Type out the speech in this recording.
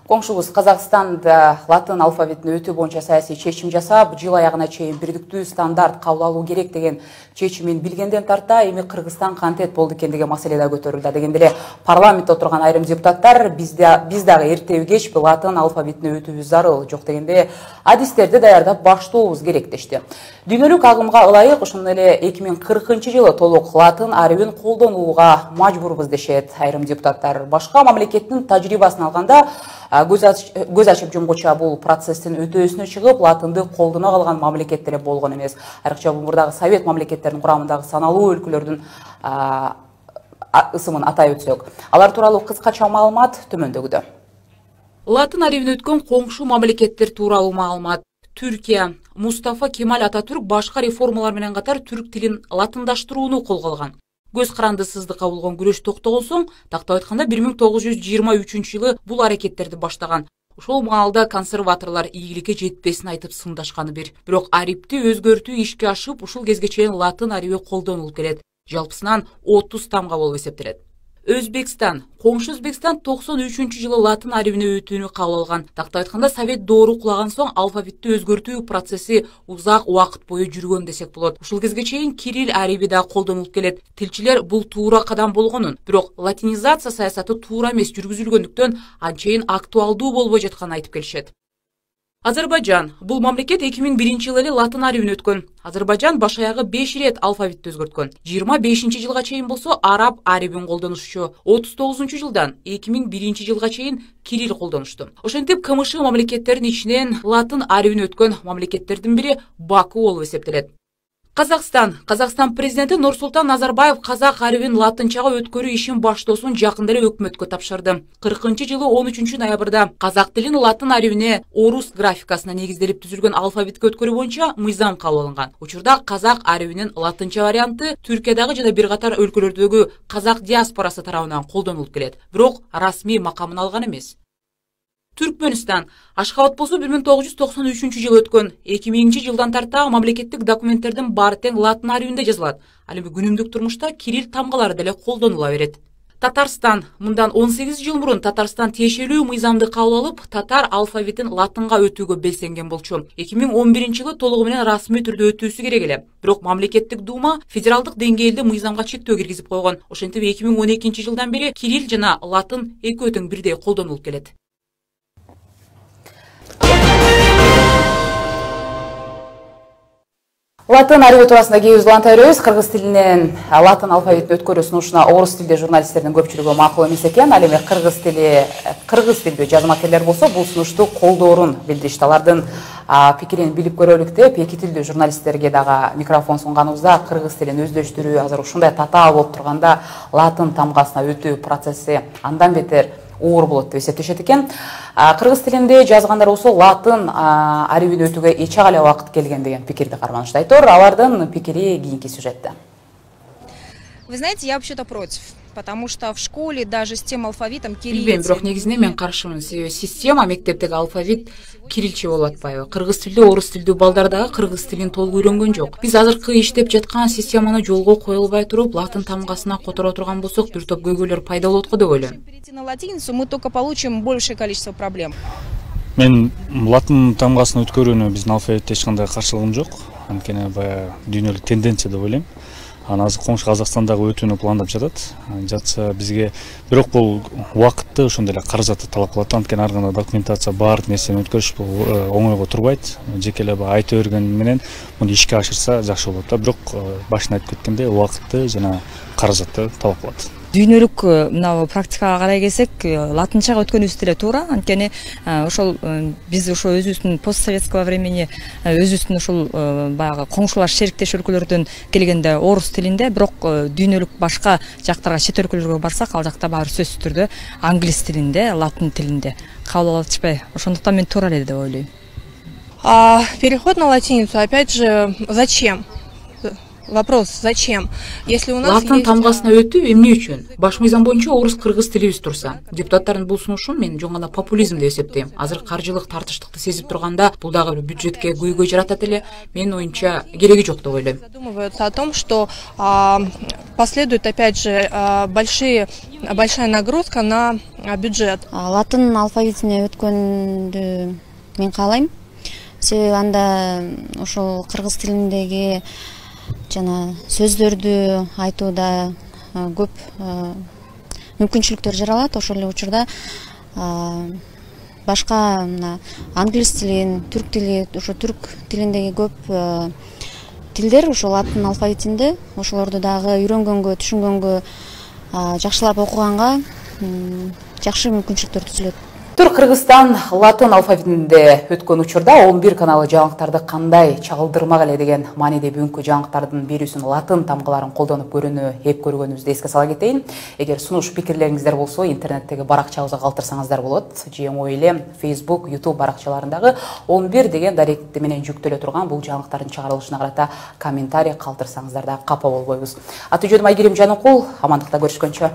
Коңшубуз Казакстанда латын алфавитин өтүү боюнча саясий чечим жасап, жыл аягына чейин бирдиктүү стандарт кабыл алуу керек деген чечимин билгенден тарта, эми Кыргызстан кантет болду экен деген маселе да көтөрүлдү. Дегенде эле парламентте отурган айрым депутаттар биз дагы эртеби кеч латын алфавитине өтүүбүз зарыл, жок дегенде адистерди даярдап баштообуз керек дешти. Дүйнөлүк агымга ылайык ошондой эле 2040-жылы толук латын арабин колдонууга мажбурбуз дешет айрым депутаттар. Башка мамлекеттин тажрыйбасын алганда көз ачып жумгуча бул процесстин өтөөсүнө чыгып, латынды колдоно калган мамлекет эле болгон эмес. Айрыкча бул мурдагы совет мамлекеттеринин курамындагы саналуу өлкөлөрдүн ысымын атай өтсөк. Алар тууралуу кыскача маалымат төмөндөгүдө. Латын арабин өткөн коңшу мамлекеттер тууралуу маалымат. Түркия Мустафа Кемаль Ататүрк башка реформалар менен катар түрк тилин латындаштырууну колго алган. Көз карандысыздыкка болгон күрөш токтогон соң, тактап айтканда 1923-жылы бул аракеттерди баштаган. Ошол маалда консерваторлор ийгиликке жетпесин айтып сындашканы бир. Бирок арибти өзгөртүү ишке ашып, ушул кезге чейин латын ариби колдонулуп келет. Жалпысынан 30 тамга болуп эсептелет. Өзбекстан, коңшу Өзбекстан 93-жылы латын арабине өтүүнү кабыл алган. Тактап айтканда совет доору кулаган соң алфавитти өзгөртүү процесси узак убакыт бою жүргөн десек болот. Ушул кезге чейин кирилл араби да колдонулуп келет. Тилчилер бул туура кадам болгонун, бирок латинизация саясаты туура эмес жүргүзүлгөндүктөн анчейин актуалдуу болбой жатканын айтып келишет. Азербайжан. Бул мамлекет 2001-жылы эле латын арабин өткөн. Азербайжан баш аягы 5 рет алфавитти өзгөрткөн. 25-жылга чейин болсо араб арабин колдонушчу. 39-жылдан 2001-жылга чейин кирилл колдонушту. Ошентип КМШ мамлекеттеринин ичинен латын арабин өткөн мамлекеттердин бири Баку болуп эсептелет. Казакстан президенти Нурсултан Назарбаев казак арабин латынчага өткөрүү ишин баштоосун жакында эле өкмөткө тапшырды. 40-жылы 13-ноябрда казак тилин латын арабине орус графикасына негизделип түзүлгөн алфавитке өткөрүү боюнча мыйзам кабыл алынган. Учурда казак арабинин латынча варианты Түркиядагы жана бир катар өлкөлөрдөгү казак диаспорасы тарабынан колдонулуп келет, бирок расмий макамын алган эмес. Түркмөнстан. Ашхабад болсо 1993-жылы өткөн. 2000-жылдан тарта мамлекеттик документтердин баары тең латын арабинде жазылат. Ал эми күнүмдүк турмушта кирилл тамгалары деле колдонула берет. Татарстан. Мындан 18 жыл мурун Татарстан тиешелүү мыйзамды кабыл алып, татар алфавитин латынга өтүүгө белсенген болчу. 2011-жылы толугу менен расмий түрдө өтүүсү керек эле. Бирок мамлекеттик дума федералдык деңгээлде мыйзамга чектөө киргизип койгон. Ошентип 2012-жылдан бери кирилл жана латын экөө тең бирдей колдонулуп келет. Латын араби туурасында кээ узуланта беребиз. Кыргыз тилинен латын алфавитин өткөрүү сунушуна орус тилде журналисттердин көпчүлүгү макул эмес экен. Ал эми кыргыз тилдүү жазмакерлер болсо бул сунушту колдоорун билдиришти. Алардын пикирин билип көрөлүк деп эки тилдүү журналисттерге дагы микрофон сунганыбызда кыргыз тилин өздөштүрүү азыр ушундай татаал болуп турганда латын тамгасына өтүү процесси андан бетер оор болот деп эсептешет экен. Кыргыз тилинде жазгандар болсо латын арабин өтүүгө эч ак эле убакыт келген деген пикирди карманышты. Айтор, алардын пикири кийинки сюжетте. Вы знаете, я вообще-то против. Потому что в школе даже с тем алфавитом кириллица. Билбейм, бирок негизинен мен каршымын. Себеби система мектептеги алфавит кириллче болуп атпайбы? Кыргыз тилдүү, орус тилдүү балдар дагы кыргыз тилин толук үйрөнгөн жок. Биз азыркы иштеп жаткан системаны жолго кое албай туруп, латын тамгасына которо турган болсок, бир топ көйгөйлөр пайда болот го деп ойлойм. Перейти на латиницу, мы только получим большее количество проблем. Мен латын тамгасын өткөрүүнү биздин алфавитте эч кандай каршылыгым жок. Анткени баягы дүйнөлүк тенденция деп ойлойм. Азыр коңшу Казакстандагы өтүүнү пландап жатса бизге, бирок бул убакытты ошондой эле каражатты талап кылат. Анткени ар кандай документация баардык нерсени өткөрүш бул оңойго турбайт. Жеке эле айта бергени менен муну ишке ашырса жакшы болот да, бирок башында айтып кеткендей убакытты жана каражатты талап кылат. Дүйнөлүк мына практикага карай келсек, латынчага өткөнүбүз деле туура. Анткени ошол биз ошо өзүбүздүн постсоветского времени өзүбүздүн ошол баягы коңшулаш шериктеш өлкөлөрдөн келгенде орус тилинде, бирок дүйнөлүк башка жактарга, чет өлкөлөргө барсак, ал жакта баары сөзсүз түрдө англис тилинде, латын тилинде кабыл алып атышпайбы? Ошондуктан мен туура эле деп ойлойм. Переход на латиницу, опять же, зачем? вопрос, зачем? Если у нас латын есть... тамгасына өтүү эмне үчүн? Баш мыйзам боюнча орус-кыргыз тилибиз турса. Депутаттардын бул сунушун мен жөн гана популизм деп эсептейм. Азыр каржылык тартыштыкты сезип турганда, бул дагы бир бюджетке көйгөй жаратат эле. Менин оюмча кереги жок деп ойлойм. Задумываются о том, что последует опять же большая нагрузка на бюджет. Латын алфавитине өткөндү мен каалайм. Себеби анда ошол кыргыз тилиндеги жана сөздөрдү айтууда көп мүмкүнчүлүктөр жаралат. Ошол эле учурда башка англис тилин, түрк тили, ошо түрк тилиндеги көп тилдер ошол латын алфавитинде, ошолорду дагы үйрөнгөнгө, түшүнгөнгө, жакшылап окуганга жакшы мүмкүнчүлүктөр түзүлөт. Кыргызстан латын алфавитинде өткөн учурда 11 каналы жаңылыктарды кандай чагылдырмак эле деген мааниде бүгүнкү жаңылыктардын берүүсүн латын тамгаларын колдонуп көрүүнү эп көргөнүбүздү эске сала кетейин. Эгер сунуш пикирлериңиздер болсо, интернеттеги баракчабызга калтырсаңыздар болот. ЖМО эле Facebook, YouTube баракчаларындагы 11 деген даректи менен жүктөлө турган бул жаңылыктардын чыгарылышына карата комментарий калтырсаңыздар да капа болбойбуз. Аты жөнүм Айгерим Жаныкул, амандыкта көрүшкөнчө.